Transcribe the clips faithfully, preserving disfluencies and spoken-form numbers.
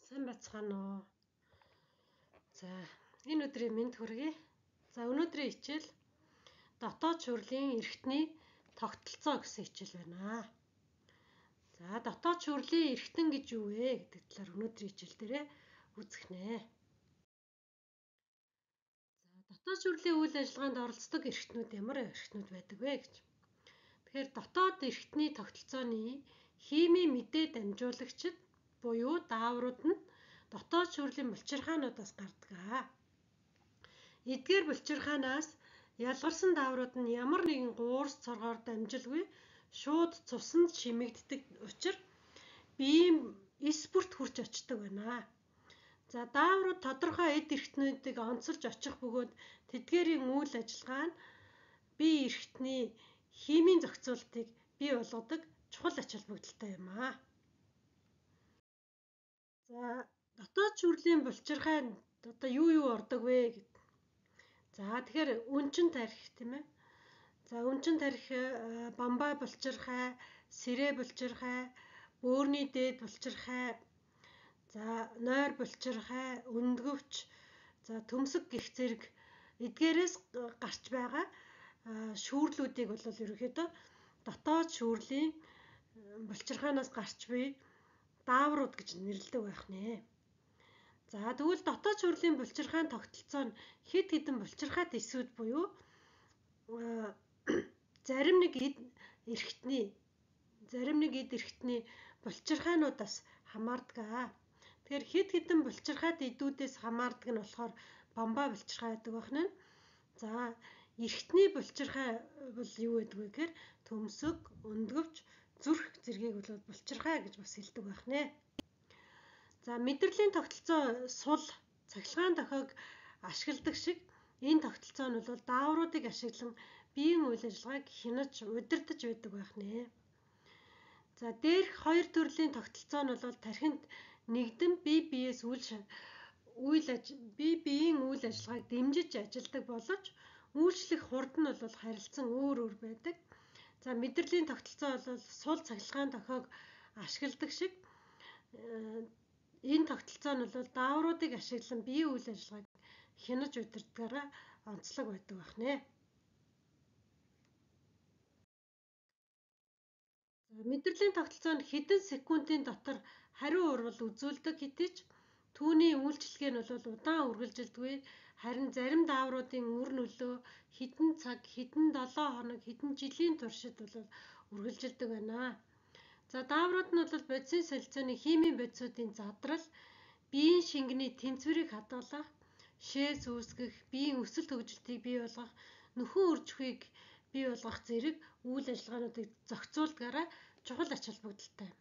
Сайн байцгаана уу. За, энэ өдрийн мэнд хүргэе. За, өнөөдрийн хичээл дотоод шүүрлийн эрхтний тогтолцоо гэсэн хичээл байна. За, дотоод шүүрлийн эрхтэн гэж юу вэ гэдэг талаар өнөөдрийн хичээл дээрээ үзэх нэ. За, дотоод шүүрлийн үйл ажиллагаанд оролцдог эрхтнүүд ямар эрхтнүүд байдаг вэ гэж. Тэгэхээр дотоод эрхтний тогтолцооны химийн мэдээ дамжуулагчид буюу дааврууд нь дотоод шүүрлийн булчирхаануудаас гардаг. Эдгээр булчирхаанаас ялгарсан дааврууд нь ямар нэгэн гуурс цоргоор дамжилгүй шууд цуснд шимэгддэг учраас биеийн эс бүрт хүрч очдог байна. За, дааврууд тодорхой эд эрхтнүүдийг онцолж очих бөгөөд тэдгээрийн үйл ажиллагаа нь бие эрхтний химийн зохицуултыг бий болгодог чухал ач холбогдолтой юм аа. За, дотоод шүүрлийн булчирхайнд одоо юу юу ордог вэ гэд. За, тэгэхээр үнчин тарих тийм ээ. За, үнчин тарих бамбай булчирхай, сэрээ булчирхай, бөөрийн дээд булчирхай, за нойр булчирхай, өндгөвч, за төмсөг гэх зэрэг эдгээрээс гарч байгаа шүүрлүүдийг бол ерөнхийдөө дотоод шүүрлийн булчирхаанаас гарч буй дааврууд гэж нэрлэдэг байх нэ. За, тэгвэл дотоод шүүрлийн булчирхаан тогтолцоо нь хэд хэдэн булчирхайт эсүүд буюу зарим нэг эд эрхтний зарим нэг эд эрхтний булчирхаануудаас хамаардаг. Тэгэхээр хэд хэдэн булчирхайт эдүүдээс хамаардаг нь болохоор бамбай булчирхай гэдэг байна. За, эрхтний булчирхай бол юу гэдэг вэ гэхээр төмсөг, өндгөвч, зүрх зэргийг бол булчирхай гэж бас хэлдэг байх нэ. За, мэдрэлийн тогтолцоо сул цахилгаан дохиог ашигладаг шиг энэ тогтолцоо нь бол даавруудыг ашиглан биеийн үйл ажиллагааг хянаж удирдах байдаг байх нэ. За, дээрх хоёр төрлийн тогтолцоо нь бол тархинд нэгдэн бие биеэс үйл үйл бие биеийн үйл ажиллагааг дэмжиж ажилдаг боловч үйлчлэх хурд нь бол харилцан өөр өөр байдаг. За, мэдрэлийн тогтолцоо бол сул цахилгаан дохиог ашигладаг шиг энэ тогтолцоо нь бол даавруудыг ашиглан биеийн үйл ажиллагааг хянаж удирдахаараа онцлог байдаг байх нэ. За, мэдрэлийн тогтолцоо нь хэдэн секундын дотор хариу урвал үзүүлдэг хэдий ч түүний үйлчлэгээ нь бол удаан үргэлжилдэггүй. Харин зарим даавруудын үр нөлөө хэдэн цаг, хэдэн долоо хоног, хэдэн жилийн туршид бол үргэлжилдэг байна. За, дааврууд нь бол бодисын солилцооны химийн бодисуудын задрал, биеийн шингэний тэнцвэрийг хадгалах, шээс үүсгэх, биеийн өсөлт хөгжилтийг бий болгох, нөхөн үржихүйг бий болгох зэрэг үйл ажиллагаануудыг зохицуулдгаараа чухал ач холбогдолтой.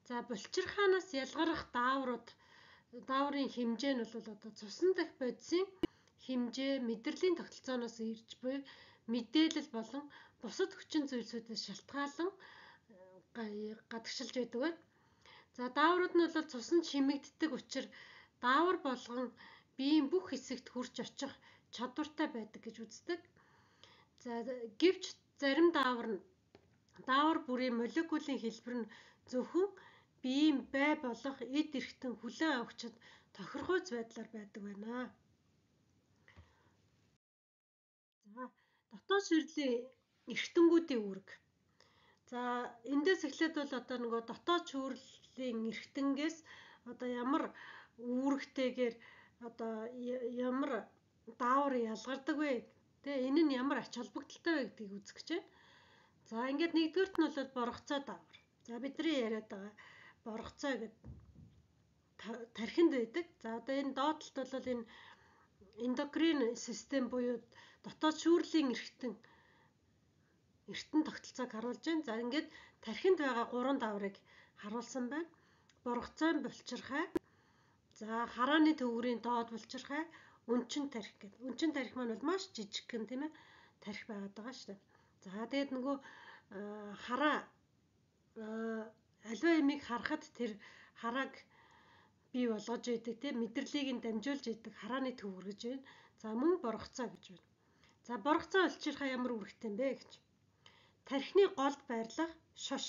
За, булчирхаанаас ялгарах дааврууд дааврын хэмжээ нь бол одоо цусан дахь бодисын хэмжээ, мэдрэлийн тогтолцооноос ирж буй мэдээлэл болон бусад хүчин зүйлсүүдээс шалтгаалan гадагшилж байдаг байна. За, дааврууд нь бол цуснд шимэгддэг учраас даавар болгон биеийн бүх хэсэгт хүрч очих чадвартай байдаг гэж үздэг. За, гэвч зарим даавар нь даавар бүрийн молекулын хэлбэр нь зөвхөн биеийн бай болох эд эрхтэн хүлээн авахчид тохиргуйц байдлаар байдаг байна. За, дотоод шүүрлийн эрхтэнгүүдийн үүрэг. За, эндээс эхлээд бол одоо нөгөө дотоод шүүрлийн эрхтэнгээс одоо ямар үүрэгтэйгээр одоо ямар даавар ялгардаг вэ? Тэ энэ нь ямар ач холбогдолтой вэ гэдгийг үзэх гэж байна. За, ингээд нэгдүгээрт нь бол боргоцоо даавар. За, бидний яриад байгаа боргоцоо гэдэг тархинд байдаг. За, одоо энэ доотлолт бол энэ эндокрин систем буюу дотоод шүүрлийн эрхтэн эрхтэн тогтолцоог харуулж байна. За, ингээд тархинд байгаа гурван дааврыг харуулсан байна. Боргоцоо булчирхай, за харааны төвгөрийн доод булчирхай, үнчин тарих гэдэг. Үнчин тарих маань бол маш жижигхэн тийм ээ тарих байгаад байгаа шүү дээ. За, тэгээд нөгөө хараа аливаа ямиг харахад тэр харааг бий болгож идэг тийм мэдрэлийг нь дамжуулж идэг харааны төвгөр гэж байна. За, мөн боргоцоо гэж байна. За, боргоцоо булчирхай ямар үүрэгтэй юм бэ гэж. Тархины голд байрлах шош.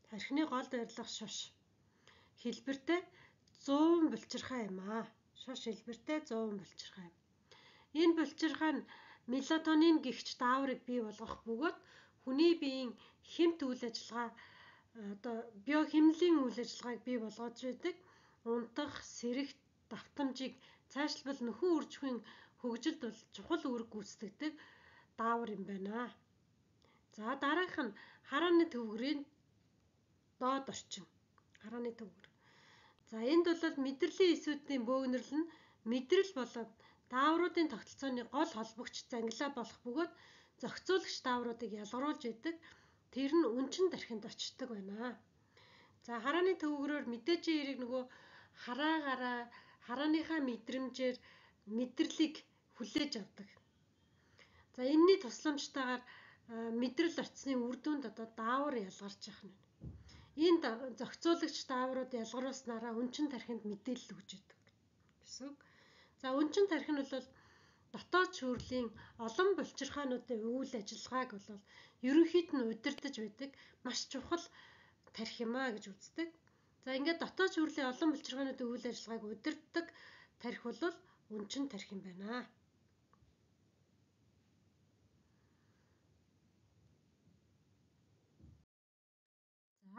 Тархины голд байрлах шош. хэлбэртэй зуун булчирхай юм аа. Шаш хэлбэртэй зуун булчирхай юм. Энэ булчирхай нь мелатонин гэгч дааврыг бий болгох бөгөөд хүний биеийн хэмт үйл ажиллагаа одоо биохимлийн үйл ажиллагааг бий болгож байдаг. Унтах, сэрэх, давтамжийг цаашлбал нөхөн үр жихүүн хөгжилд бол чухал үүрэг гүйцэтгэдэг даавар юм байна. За дараах нь харааны төвгөрийн доод орчин. Харааны төвгөр. За энд бол мэдрэлийн эсүүдийн бөөгнөрл нь мэдрэл болоод даавруудын тогтолцооны гол холбогч зангилаа болох бөгөөд зохицуулагч даавруудыг ялгаруулж идэг. Тэр нь үнчин тархинд очдог байна. За харааны төвгөрөөр мэдээжийн эрийг нөгөө хараагаараа харааныхаа мэдрэмжээр мэдрэлийг хүлээж авдаг. За энэний тусламжтайгаар мэдрэл очсны үр дүнд одоо даавар ялгарч явах нь. Энд зохицуулагч дааврууд ялгаруулснараа үнчин тархинд мэдээлэл өгч идэг гэсэн. За үнчин тархи нь бол дотоод шүүрлийн олон булчирхаануудын үйл ажиллагааг бол ерөнхийд нь удирдах байдаг маш чухал тархи юм а гэж үздэг. За ингээд дотоод шүүрлийн олон булчирхаануудын үйл ажиллагааг удирддаг тархи бол үнчин тархи юм байна.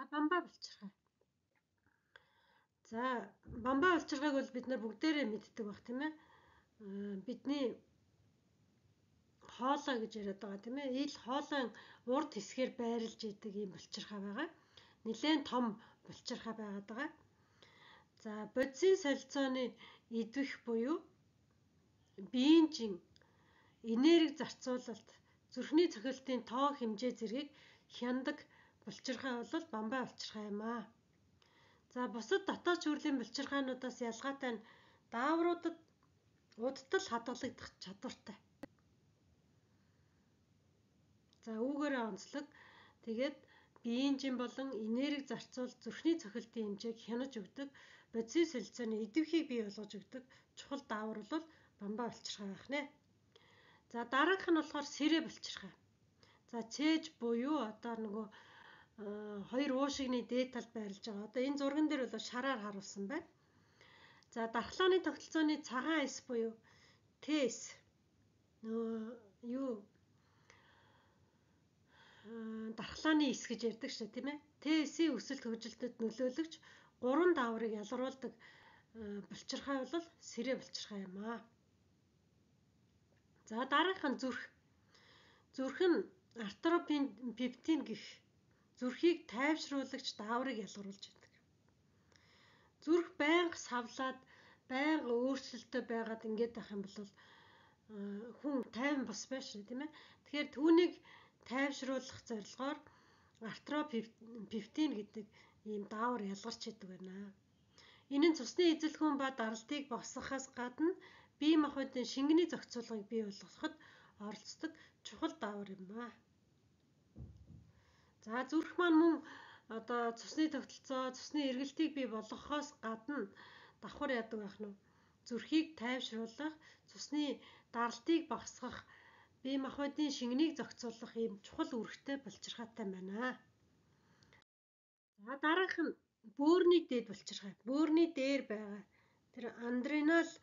За бамбаа булчирхай. За бамбаа булчирхайг бол бид нар бүгдээрээ мэддэг баг тийм ээ. Бидний хоолой гэж яриад байгаа тийм ээ. Ил хоолойн урд хэсгээр байрлаж идэг юм булчирхай байгаа. Нилээн том булчирхай байгаад байгаа. За бодисын солилцооны идвэх буюу биеийн энерги зарцуулалт, зүрхний цохилтын тоо хэмжээ зэргийг хяндаг булчирхай бол бамбаа булчирхай юм аа. За бусад дотоод шүүрлийн булчирхайнуудаас ялгаатай нь даавруудад удтал хадгалагдах чадвартай. За үүгээрээ онцлог. Тэгээд биеийн болон энерги зарцуул зүрхний цохилтын хэмжээг хянаж өгдөг, бодисын солилцооны идэвхийг бий болгож өгдөг чухал даавар бол бамбаа булчирхай байх нэ. За дараах нь болохоор сэрэ булчирхай. За цээж буюу одоо нөгөө хоёр уушигны дээд талд байрлаж байгаа. Одоо энэ зурган дээр бол шараар харуулсан байна. За дархлааны тогтолцооны цагаан эс буюу Т-эс нөгөө юу дархлааны эс гэж ярьдаг шүү тийм ээ. Т-эсийн өсөлт хөгжилтөд нөлөөлөгч гурван дааврыг ялгаруулдаг булчирхай бол сэрэ булчирхай юм аа. За дараах нь зүрх. Зүрх нь артропептин гэх зүрхийг тайвшруулагч дааврыг ялгаруулж байдаг. Зүрх байнга савлаад, байнга өөрчлөлтөй байгаад ингээд байх юм бол хүн тайван бос байх шүү тийм ээ. Тэгэхээр түүнийг тайвшруулах зорилгоор артропептин гэдэг ийм даавар ялгарч идэг байна. Энэ нь цусны эзэлхүүн ба даралтыг босгохоос гадна бие махбодын шингэний зохицуулгыг бий болгоход оролцдог чухал даавар юм аа. За зүрх маань мөн одоо цусны тогтолцоо, цусны эргэлтийг бий болгохоос гадна давхар яадаг байх нь зүрхийг тайвшруулах, цусны даралтыг босгох, бие махбодын шингэнийг зохицуулах ийм чухал үүрэгтэй булчирхайтай байна. За дараах нь бөөрийн дээд булчирхай. Бөөрийн дээр байгаа тэр адреналь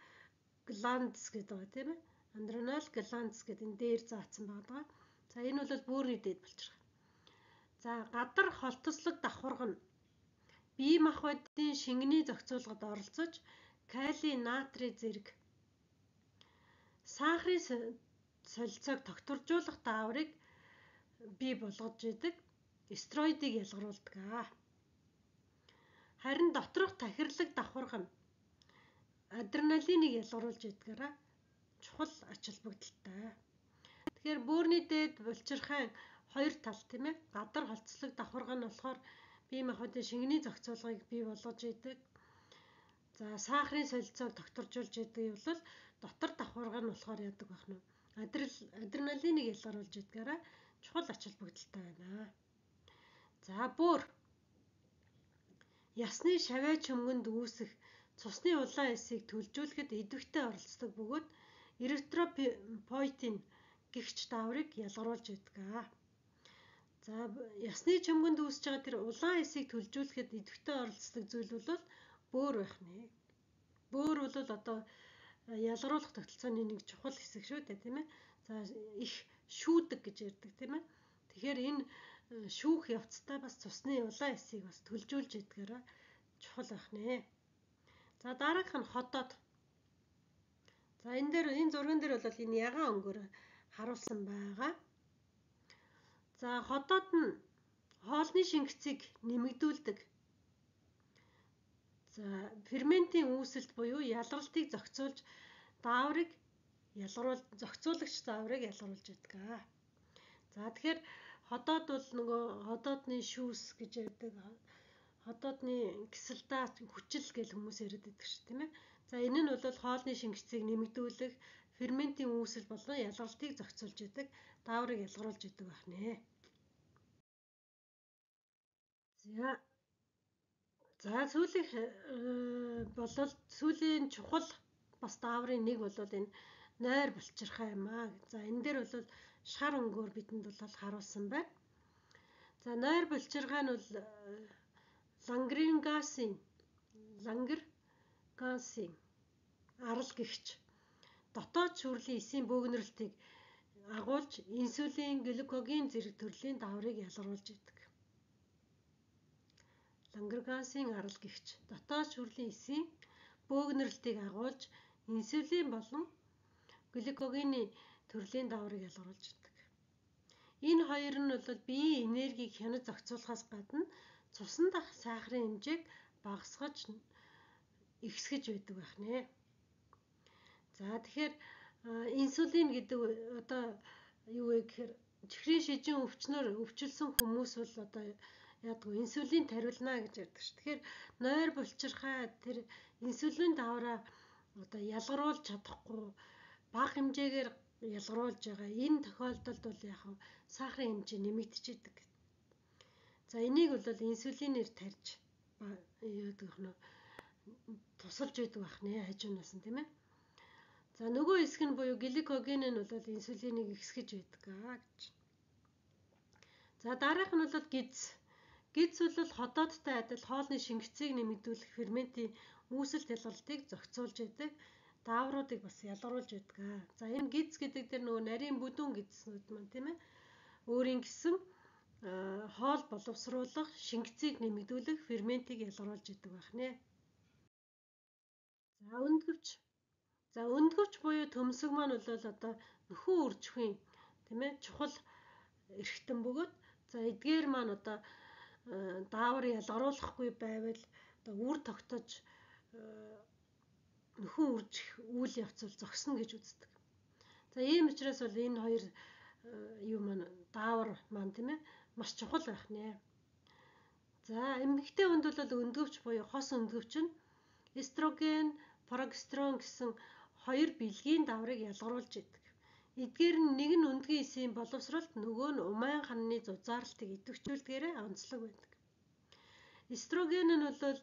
гландс гэдэг байгаа тийм ээ. Адреналь гландс гэдэг энэ дээр заасан байгаа. За энэ бол бөөрийн дээд булчирхай. За гадар холтослог давхарга нь бие махбодын шингэний зохицуулгад оролцож кали, натрий зэрэг сахарын солилцоог тогтворжуулах дааврыг бий болгож идэг стероидыг ялгаруулдаг аа. Харин доторх тахирлаг давхарга нь адреналиныг ялгаруулж идэгээрээ чухал ач холбогдолтой. Тэгэхээр бөөрийн дээд булчирхай хоёр тал тийм ээ. Гадар холцлог давхарга нь болохоор бие махбодын шингэний зохицуулгыг бий болгож идэг. За сахарын солилцоог тогтворжуулж идэг бол дотор давхарга нь болохоор яадаг байх нь адреналиныг ялгаруулж идэгээрээ чухал ач холбогдолтой байна. За бөөр ясны шавьяа чөмгөнд үүсэх цусны улаан эсийг төлжүүлэхэд идэвхтэй оролцдог бөгөөд эритропоетин гэгч дааврыг ялгаруулж идэг. За ясны чөмгөнд үүсэж байгаа тэр улаан эсийг төлжүүлэхэд идэвхтэй оролцдог зүйл бол бөөр байх нэ. Бөөр бол одоо ялгаруулах тогтолцооны нэг чухал хэсэг шүү дээ, тийм ээ. За их шүүдэг гэж ярьдаг, тийм ээ. Тэгэхээр энэ шүүх явцдаа бас цусны улаан эсийг бас төлжүүлж идэгээрээ чухал байх нэ. За дараагийнх нь хотоод. За энэ дээр энэ зурган дээр бол энэ ягаан өнгөөр харуулсан байгаа. За хотоод нь хоолны шингэцийг нэмэгдүүлдэг. За ферментийн үүсэлт буюу ялгарлтыг зохицуулж дааврыг ялгаруул зохицуулагч дааврыг ялгаруулж байдаг. За тэгэхээр хотоод бол нөгөө хотоодны шүүс гэж ярьдаг. Хотоодны кислота хүчил гэж хүмүүс яриад байдаг ш, тийм ээ. За энэ нь бол хоолны шингэцийг нэмэгдүүлэх, ферментийн үүсэл болон ялгарлтыг зохицуулж байдаг, дааврыг ялгаруулж байдаг байх нэ. За За сүүлийнх болол сүүлийн чухал бас дааврын нэг бол энэ нойр булчирхай юм аа. За энэ дээр бол шар өнгөөр бидэнд бол харуулсан байна. За нойр булчирхай нь бол лангрингасын лангергансын арал гэгч дотоод шүүрлийн эсийн бөөгнөрлөлтийг агуулж инсулин, глюкоген зэрэг төрлийн дааврыг ялгаруулж идэг. Лангергансын арал гэгч дотоод шүүрлийн эсийн бөөгнөрлөлтийг агуулж инсулин болон глюкогены төрлийн дааврыг ялгаруулж идэг. Энэ хоёр нь бол биеийн энергийг хянаж зохицуулахаас гадна цусан дах сахарын хэмжээг багасгаж ихсгэж байдаг байх нэ. За тэгэхээр инсулин гэдэг одоо юу вэ гэхээр чихрийн шижин өвчнөр өвчлсөн хүмүүс бол одоо яадгүй инсулин тариулна гэж ярьдаг ш. Тэгэхээр нойр булчирхай тэр инсулин даавраа одоо ялгаруулж чадахгүй бага хэмжээгээр ялгаруулж байгаа. Энэ тохиолдолд бол яг сахарын хэмжээ нэмэгдчихэдэг. За энийг бол инсулинээр тарьж яадаг нэ тусалж байдаг байх нэ хажуунаас нь, тийм ээ. За нөгөө хэсэг нь буюу глюкоген нь бол инсулиныг ихсгэж байдаг гэж. За дараах нь бол гиз. Гиз бол хотоодтой адил хоолны шингэцийг нэмэгдүүлэх ферментийн үүсэлт ялгарлтыг зохицуулж байдаг. Даавруудыг бас ялгаруулж байдаг. За энэ гиз гэдэг дээр нөгөө нарийн бүдүүн гизснүүд маань, тийм ээ. Өөрийн гэсэн хоол боловсруулах, шингэцийг нэмэгдүүлэх ферментийг ялгаруулж идэг байх нэ. За өндгөвч. За өндгөвч буюу төмсөг маань бол одоо нөхөн үржихийн, тийм ээ, чухал эрхтэн бөгөөд за эдгээр маань одоо даавар ялгаруулахгүй байвал одоо үр тогтож нөхөн үржих үйл явц бол зогсно гэж үздэг. За ийм учраас бол энэ хоёр юу маань даавар маань, тийм ээ, маш чухал байх нэ. За эмэгтэй хүнд бол өндгөвч буюу хос өндгөвч нь эстроген, прогестерон гэсэн хоёр бэлгийн дааврыг ялгаруулж идэг. Эдгээр нь нэг нь өндгөн эсийн боловсролт, нөгөө нь умайн ханны зузаарлалтыг идэвхжүүлдгээрээ онцлог байдаг. Эстроген нь бол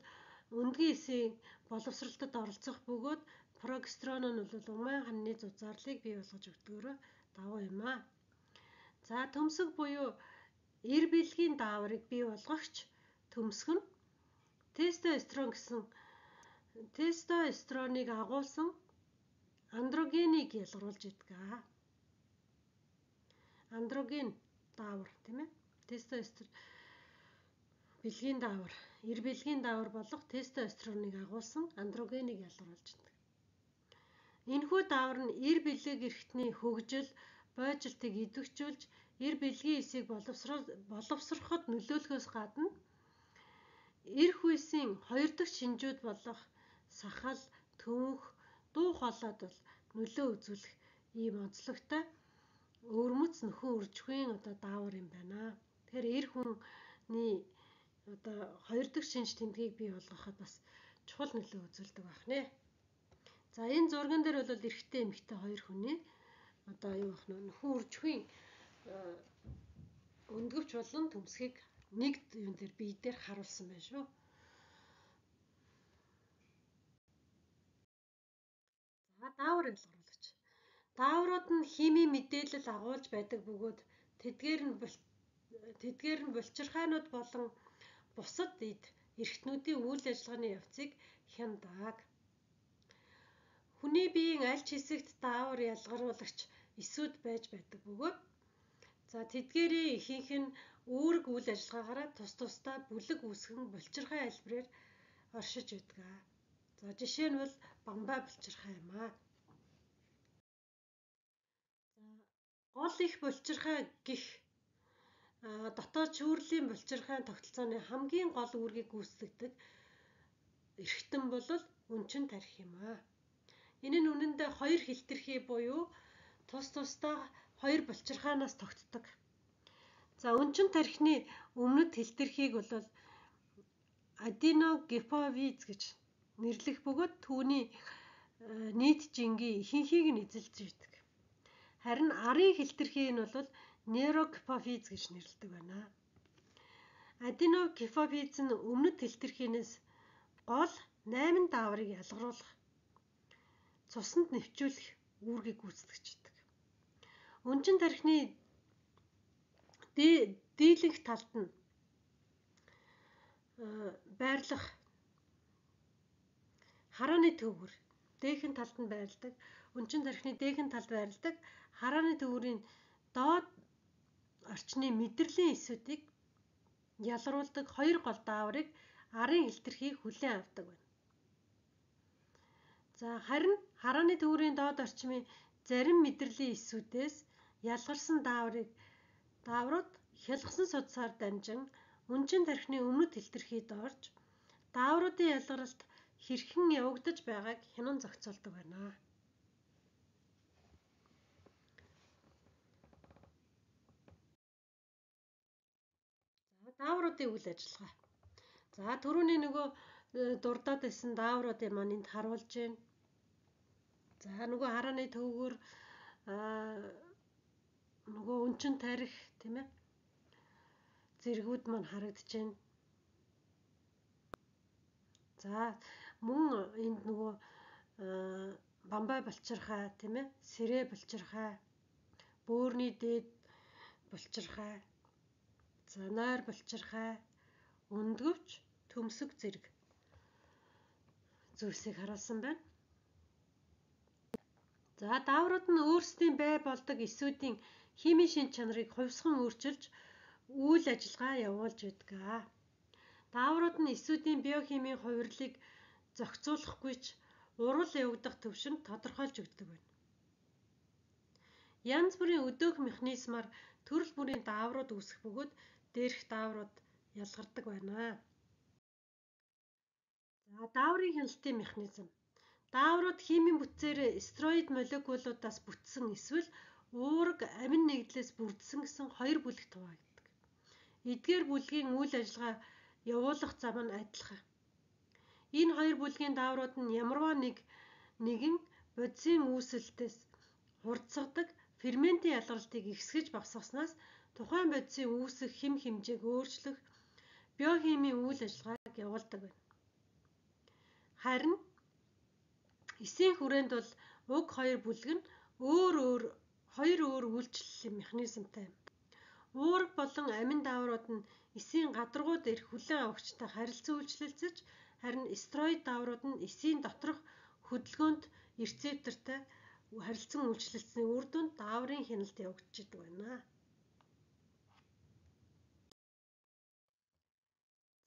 өндгөн эсийн боловсролтод оролцох бөгөөд прогестерон нь бол умайн ханны зузаарлыг бий болгож өгдөгөөрөө давуу юм аа. За төмсөг буюу эр бэлгийн дааврыг бий болгогч төмсг нь тестостерон гэсэн тестостероныг агуулсан андрогенийг ялгаруулж идэг. Андроген даавар, тийм ээ. Тестостерон бэлгийн даавар, эр бэлгийн даавар болох тестостероныг агуулсан андрогенийг ялгаруулж идэг. Энэхүү даавар нь эр бэлэг эрхтний хөгжил, бойжилтыг идэвхжүүлж, эр бэлгийн эсийг боловсроход нөлөөлөхөөс гадна эрх үйсийн хоёр дахь шинжүүд болох сахал, төвөнх, дуу хоолойд бол нөлөө үзүүлэх ийм онцлогтой өвөрмөц нөхөн үржихийн одоо даавар юм байна. Тэгэхээр эр хүний одоо хоёр дахь шинж тэмдгийг бий болгоход бас чухал нөлөө үзүүлдэг байх нэ. За энэ зурган дээр бол эрэгтэй эмэгтэй хоёр хүний одоо юу бах нэ нөхөн үржихийн өндгөвч болон төмсгийг нэг юм дээр бие дээр харуулсан байна шүү. За даавар ялгаруулгач. Дааврууд нь химийн мэдээлэл агуулж байдаг бөгөөд тэдгээр нь тэдгээр нь булчирхайнууд болон бусад эд эрхтнүүдийн үйл ажиллагааны явцыг хяндаг. Хүний биеийн аль ч хэсэгт даавар ялгаруулагч эсүүд байж байдаг бөгөөд за тэдгээрийн ихэнх нь үүрэг үйл ажиллагаагаараа тус тусдаа бүлэг үүсгэн булчирхай альбраар оршиж байдаг. За жишээ нь бол бамбай булчирхай юм аа. За гол их булчирхай гэх дотоод шүүрлийн булчирхайн тогтолцооны хамгийн гол үүргийг гүйцэтгэдэг эрхтэн бол өнчин тархи юм аа. Энэ нь үнэндээ хоёр хилтэрхий буюу тус тусдаа хоёр булчирхаанаас тогтдог. За өнчин тархины өмнөд хилтэрхийг бол аденогипофиз гэж нэрлэх бөгөөд түүний нийт жингийн ихэнхийг нь эзэлж байдаг. Харин арын хилтэрхий нь бол нейрогипофиз гэж нэрлэдэг байна. Аденогипофиз нь өмнөд хилтэрхийнээс гол найман дааврыг ялгаруулах, цуснд нэвчүүлэх үүргийг гүйцэтгэдэг. Өнчин тархины дийлэнх талд нь байрлах харааны төвөр дээхэн талд нь байрладаг. Өнчин тархины дээхэн талд байрладаг харааны төвөрийн доод орчны мэдрэлийн эсүүдийг ялгаруулдаг хоёр гол дааврыг арын хилтэрхий хүлээн авдаг байна. За харин харааны төвөрийн доод орчмын зарим мэдрэлийн эсүүдээс ялгарсан дааврыг дааврууд хялгсан судсаар дамжин өнчин тархины өмнөд хилтэрхийд орж даавруудын ялгаралт хэрхэн явагдаж байгааг хянан зохицуулдаг байна. За даавруудын үйл ажиллагаа. За түрүүний нөгөө дурдаад байсан даавруудын маань энд харуулж байна. За нөгөө харааны төвгөр нөгөө өнчин тарих тийм ээ зэргүүд маань харагдаж байна. За мөн энд нөгөө бамбай булчирхай тийм ээ сэрэ булчирхай, бөөрийн дээд булчирхай, за нойр булчирхай, өндгөвч, төмсөг зэрэг зүйлсийг харуулсан байна. За дааврууд нь өөрсдийн бай болдог эсүүдийн химийн шинж чанарыг хувьсган өөрчилж үйл ажиллагаа явуулж байдаг. Дааврууд нь эсүүдийн биохимийн хувирлыг зохицуулахгүй ч урвал явагдах төвшинг тодорхойлж өгдөг байна. Янз бүрийн өдөөх механизмаар төрөл бүрийн дааврууд үүсэх бөгөөд дээрх дааврууд ялгардаг байна. За дааврын хяналтын механизм. Дааврууд химийн бүтцээр стероид молекулуудаас бүтсэн эсвэл уурэг амин нэгдлээс бүрдсэн гэсэн хоёр бүлэгт хуваагддаг. Эдгээр бүлгийн үйл ажиллагаа явуулах зам нь адилхан. Энэ хоёр бүлгийн дааврууд нь ямарваа нэг нэгэн бодисын үүсэлтээс хурдсагдаг ферментийн ялгарлтыг ихсгэж багасгаснаас тухайн бодисын үүсэх хэм хэмжээг өөрчлөх биохимийн үйл ажиллагааг явуулдаг байна. Харин эсийн хүрээнд бол уг хоёр бүлэг нь өөр өөр хоёр өөр үйлчлэлийн механизмтай. Уурэг болон амин дааврууд нь эсийн гадаргууд ирэх хүлээн авагчтай харилцан үйлчлэлцэж, харин стероид дааврууд нь эсийн доторх хөдөлгөөнт рецептортай харилцан үйлчлэлцсэний үр дүнд дааврын хяналт явагдаж идэг байна.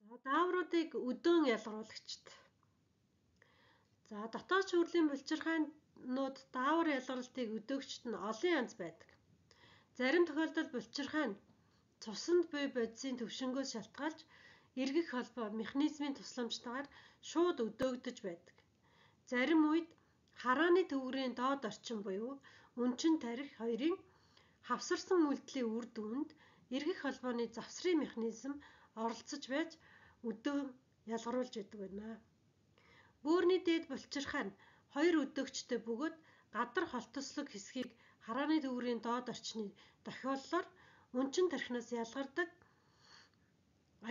За даавруудыг өдөөн ялгаруулагчд. За дотоод шүүрлийн булчирхайнууд даавар ялгарлтыг өдөөгчд нь олон янз байдаг. Зарим тохиолдолд булчирхай нь цуснд буй бодисын төвшингөөс шалтгаалж эргэх холбоо механизмын тусламжтайгаар шууд өдөөгдөж байдаг. Зарим үед харааны төвгөрийн доод орчин буюу өнчин тарих хоёрын хавсарсан үйлдэлийн үр дүнд эргэх холбооны завсрын механизм оролцож байж өдөөн ялгаруулж идэг байна. Бөөрийн дээд булчирхай нь хоёр өдөөгчтэй бөгөөд гадар холтослог хэсгийг харааны төвгөрийн доод орчны дохиоллоор өнчин тархинаас ялгардаг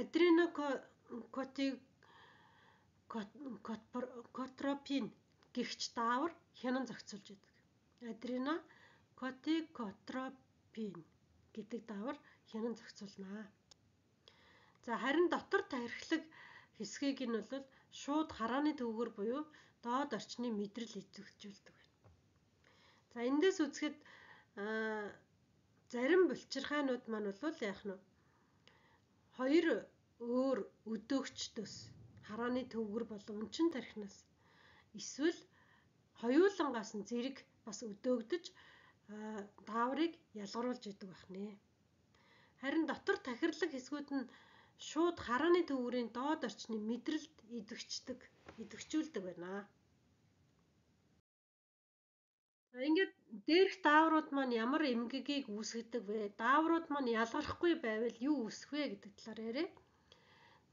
адренокортикотропин гэгч даавар хянан зохицуулж байдаг. Адренокортикотропин гэдэг даавар хянан зохицуулнаа. За харин дотор тархилаг хэсгийг нь бол шууд харааны төвгөр буюу доод орчны мэдрэл эзэгжүүлдэг байна. За эндээс үзэхэд зарим булчирхаанууд маань бол яах нь хоёр өөр өдөөгчдөөс харааны төвгөр болон өнчин тархинаас эсвэл хоёулангаас нь зэрэг бас өдөөгдөж дааврыг ялгаруулж идэг байна. Харин дотор тахирлаг хэсгүүд нь шууд харааны төвгөрийн доод орчны мэдрэлд идэвхждэг, идэвхжүүлдэг байна. За ингээд дээрх дааврууд маань ямар эмгэгийг үүсгэдэг вэ? Дааврууд маань ялгархгүй байвал юу үүсэх вэ гэдэг талаар яриа.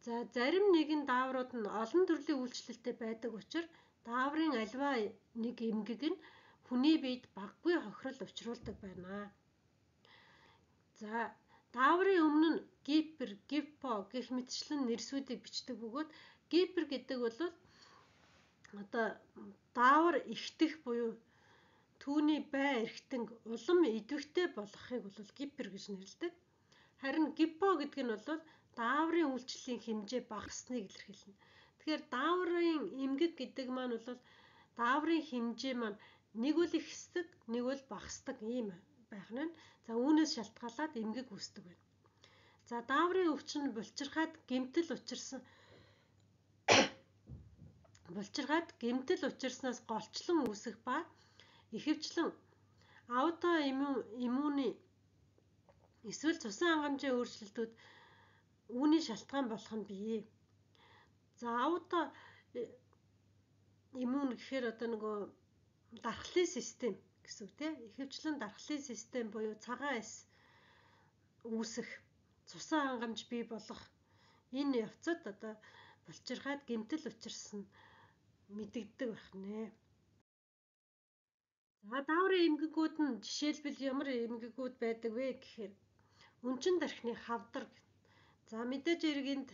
За зарим нэгэн дааврууд нь олон төрлийн үйлчлэлтэй байдаг учраас дааврын альва нэг эмгэг нь хүний биед багагүй хохирол учруулдаг байна. За дааврын өмнө нь гипер, гипо гэх мэтчлэн нэрсүүдийг бичдэг бөгөөд гипер гэдэг бол одоо даавар ихтэх буюу түүний бай эрхтэн улам идэвхтэй болгохыг бол гипер гэж нэрлэдэг. Харин гипо гэдэг нь бол дааврын үйлчлэлийн хэмжээ багасныг илэрхийлнэ. Тэгэхээр дааврын эмгэг гэдэг маань бол дааврын хэмжээ маань нэг бол ихсдэг, нэг бол багасдаг ийм байх нь. За үүнээс шалтгаалаад эмгэг үүсдэг байна. За дааврын өвчин булчирхаад гэмтэл учирсан булчирхаад гэмтэл учирснаас голчлон үүсэх ба ихэвчлэн аутоиммуны эсвэл цусан хангамжийн өөрчлөлтүүд үүний шалтгаан болох нь бий. За ауто иммун гэхээр одоо нөгөө дархлын систем гэсэн үг тийм. Ихэвчлэн дархлын систем буюу цагаан эс үүсэх, цусан хангамж бий болох энэ явцад одоо булчирхаад гэмтэл учирсан мэдэгддэг байна. За дааврын эмгэгүүд нь жишээлбэл ямар эмгэгүүд байдаг вэ гэхээр өнчин тархины хавдар. За мэдээж хэрэг энд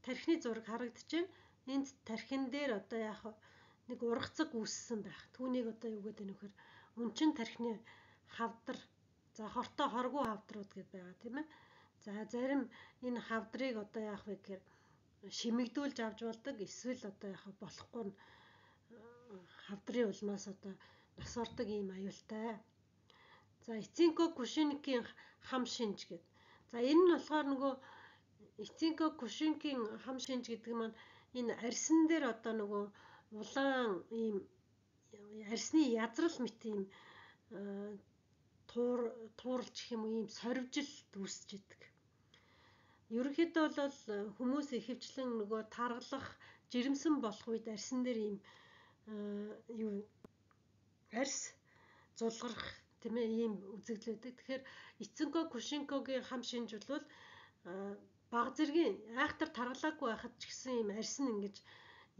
тархины зураг харагдаж байна. Энд тархин дээр одоо яах нэг ургацаг үүссэн байх. Түүнийг одоо юу гэдэг нь вэхээр өнчин тархины хавдар. За хортой хоргүй хавдрууд гэдээ байгаа тийм ээ. За зарим энэ хавдрыг одоо яах вэ гэхээр шимэгдүүлж авч болдог. Эсвэл одоо яах болохгүй нь хавдрын улмаас одоо нас ордог ийм аюултай. За эцинко кушинкийн хам шинж гэдэг. За энэ нь болохоор нөгөө эцинко кушинкийн хам шинж гэдэг маань энэ арьсан дээр одоо нөгөө улаан ийм арьсны язрал мэт ийм туур тууралч гэх юм уу ийм сорвжил үүсэж идэг. Ерөнхийдөө бол хүмүүс ихэвчлэн нөгөө таргалах, жирэмсэн болох үед арьсан дээр ийм юу арьс зулгарах тийм ээ ийм үзэгдэл байдаг. Тэгэхээр эцинко кушинкогийн хам шинж бол баг зэргийн айхтар таргалаагүй байхад ч гэсэн ийм арьс нь ингэж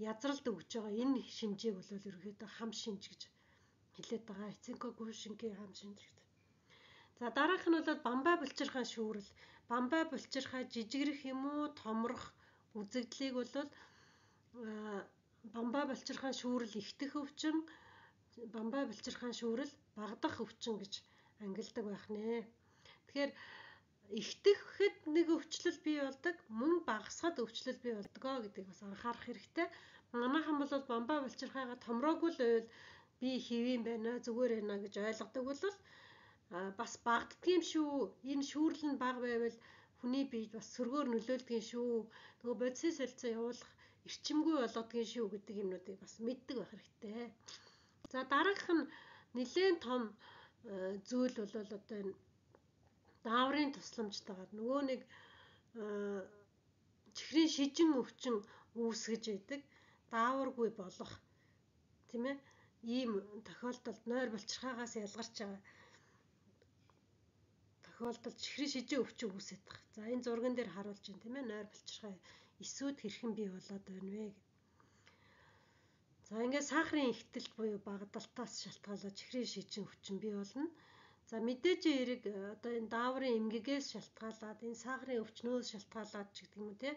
язралд өгж байгаа энэ шинжийг бол ерөнхийдөө хам шинж гэж хэлээд байгаа. Эцинко кушинкийн хам шинж гэдэг. За дараах нь бол бамбай булчирхай шүүрэл. Бамбай булчирхай жижигрэх юм уу, томрох үзэгдлийг бол бамбай булчирхай шүүрэл ихтэх өвчин, бамбай булчирхай шүүрэл багдах өвчин гэж ангилдаг байх нэ. Тэгэхээр ихтэхэд нэг өвчлөл бий болдог, мөн багасхад өвчлөл бий болдгоо гэдгийг бас анхаарах хэрэгтэй. Манайхан бол бамбай булчирхайгаа томроогүй л байвал би хэвэн байна, зүгээр байна гэж ойлгодог бол бас багддаг юм шүү. Энэ шүүрэл нь бага байвал хүний биед бас сөргөөр нөлөөлдөг шүү. Нөгөө бодисын солилцоо явуулах эрчимгүй болгодгийн шүү гэдэг юмнуудыг бас мэддэг байх хэрэгтэй. За дараах нь нэлээд том зүйл бол одоо энэ дааврын тусламжтайгаар нөгөө нэг чихрийн шижин өвчин үүсгэж байдаг дааваргүй болох тийм ээ ийм тохиолдолд нойр булчирхайгаас ялгарч байгаа тохиолдолд чихрийн шижин өвчин үүсэж байгаа. За энэ зурган дээр харуулж байна тийм ээ нойр булчирхай эсүүд хэрхэн бий болоод байна вэ гэх. За ингээд сахарын ихтэлт буюу багдалтаас шалтгаалаад чихрийн шижин өвчин бий болно. За мэдээж хэрэг одоо энэ дааврын эмгэгээс шалтгаалаад энэ сахарын өвчнөөс шалтгаалаад ч гэдэг юм уу те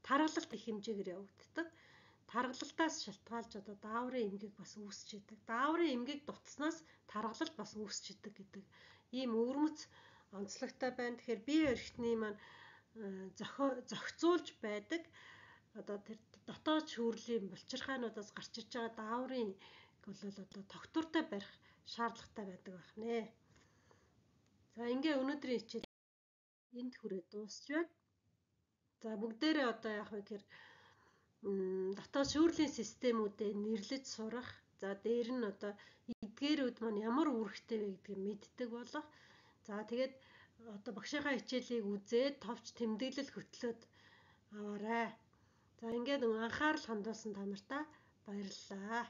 таргалалт их хэмжээгээр явагддаг. Таргалалтаас шалтгаалж одоо дааврын эмгэг бас үүсч идэг. Дааврын эмгэг дутснаас таргалалт бас үүсч идэг гэдэг ийм өвөрмөц онцлогтой байна. Тэгэхээр бие баригчны маань зохицуулж байдаг одоо тэр дотоод шүүрлийн булчирхаануудаас гарч ирж байгаа дааврын бол одоо тогтвортой барих шаардлагатай байдаг байх нэ. За ингээ өнөөдрийн хичээл энд хүрээд дуусч байна. За бүгдээрээ одоо яах вэ гэхээр дотоод шүүрлийн системүүдээ нэрлэж сурах. За дээр нь одоо эдгээрүүд маань ямар үүрэгтэй вэ гэдгийг мэддэг болох. За тэгээд одоо багшийнхаа хичээлийг үзээд товч тэмдэглэл хөтлөөд аваарай. За ингээд анхаарал хандуулсан та нартаа баярлалаа.